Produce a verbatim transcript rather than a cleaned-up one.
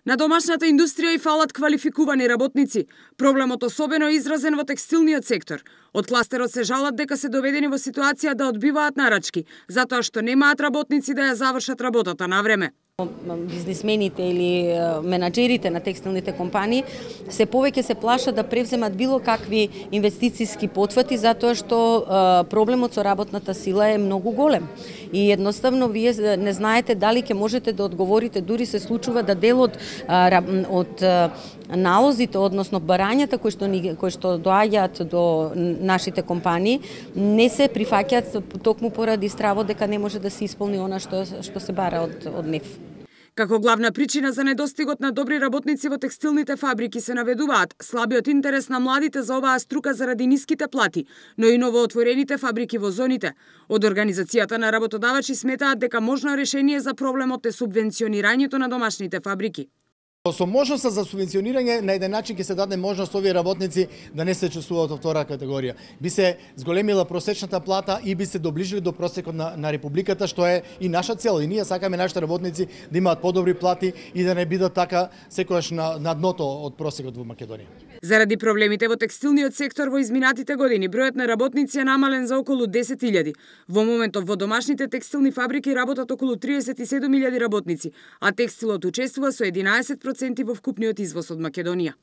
На домашната индустрија и фалат квалификувани работници. Проблемот особено е изразен во текстилниот сектор. Од кластерот се жалат дека се доведени во ситуација да одбиваат нарачки, затоа што немаат работници да ја завршат работата на време. Бизнисмените или менаџерите на текстилните компании се повеќе се плашат да превземат било какви инвестициски потфати затоа што проблемот со работната сила е многу голем. И едноставно вие не знаете дали ќе можете да одговорите, дури се случува да дел од од налозите, односно барањата кои што кои што доаѓаат до нашите компании не се прифаќаат токму поради стравот дека не може да се исполни она што што се бара од од нив. Како главна причина за недостигот на добри работници во текстилните фабрики се наведуваат слабиот интерес на младите за оваа струка заради ниските плати, но и новоотворените фабрики во зоните. Од Организацијата на работодавачи сметаат дека можно решение за проблемот е субвенционирањето на домашните фабрики. Со можноста за субвенционирање на еден начин ќе се даде можност овие работници да не се чувствуваат во втора категорија. Би се зголемила просечната плата и би се доближили до просекот на, на Републиката, што е и наша цел. И ние сакаме нашите работници да имаат подобри плати и да не бидат така секогаш на, на дното од просекот во Македонија. Заради проблемите во текстилниот сектор во изминатите години, бројот на работници е намален за околу десет илјади. Во моментов во домашните текстилни фабрики работат околу триесет и седум илјади работници, а текстилот учествува со единаесет проценти во вкупниот извоз од Македонија.